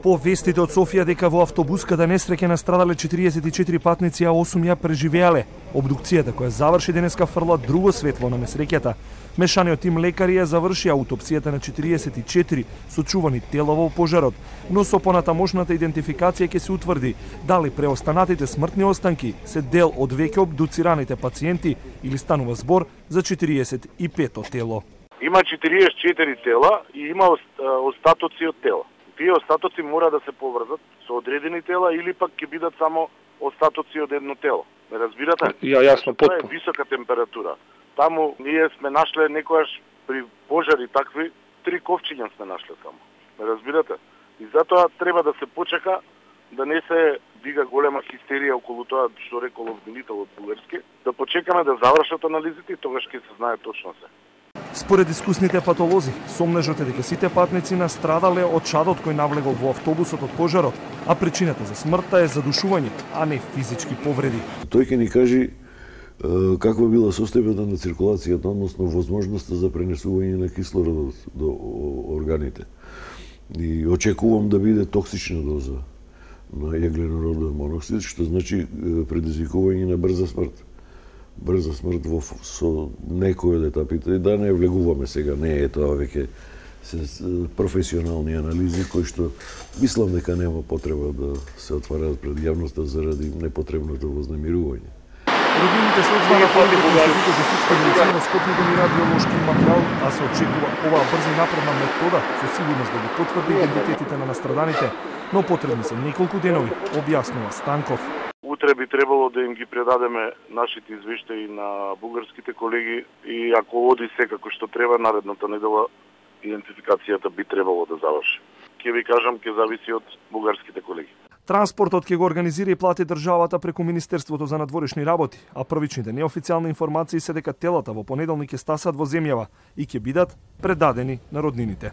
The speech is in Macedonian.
По вестите од Софија дека во автобуската несреќа настрадале 44 патници, а 8 ја преживеале. Обдукцијата која заврши денеска фрла друго светло на несреќата. Мешаниот тим лекари ја заврши аутопсијата на 44 сочувани тела во пожарот, но со понатамошната идентификација ќе се утврди дали преостанатите смртни останки се дел од веќе обдуцираните пациенти или станува збор за 45-то тело. Има 44 тела и има остатоци од тела. Тие остатоци мора да се поврзат со одредени тела или пак ќе бидат само остатоци од едно тело. Ме разбирате? Јасно, потпуно. Тоа е висока температура. Таму ние сме нашле некојаш при пожари такви 3 ковчиња сме нашле само. Ме разбирате? И затоа треба да се почека да не се дига голема хистерија околу тоа што рекол обвинител од бугарски, да почекаме да завршат анализите и тогаш ќе се знае точно се. Според искусните патолози, сомнежот е дека сите патници настрадале од чадот кој навлегол во автобусот од пожарот, а причината за смртта е задушување, а не физички повреди. Тој ќе ни кажи каква била состојбата на циркулацијата, односно возможноста за пренесување на кислород до органите. И очекувам да биде токсична доза на јагленороден моноксид, што значи предизвикување на брза смрт. Брза смрт со некои од етапите, и да не влегуваме сега, не е тоа веќе професионални анализи кои што мислам дека нема потреба да се отвараат пред јавноста заради непотребното вознемирување. Роднините се одзваја по Институтот за судска медицина на Скопје да радиолошки материјал, а се очекува оваа брза и напредна метода со сигурност да ги потврди идентитетите на настраданите, но потребни се неколку денови, објаснува Станков. Утре би требало да им ги предадеме нашите извештаи на бугарските колеги и ако оди се како што треба, наредната недела идентификацијата би требало да заврши. Ќе ви кажам, ќе зависи од бугарските колеги. Транспортот ќе го организира и плати државата преку Министерството за надворешни работи, а првичните неофицијални информации се дека телата во понеделник ќе стасат во земјава и ќе бидат предадени на роднините.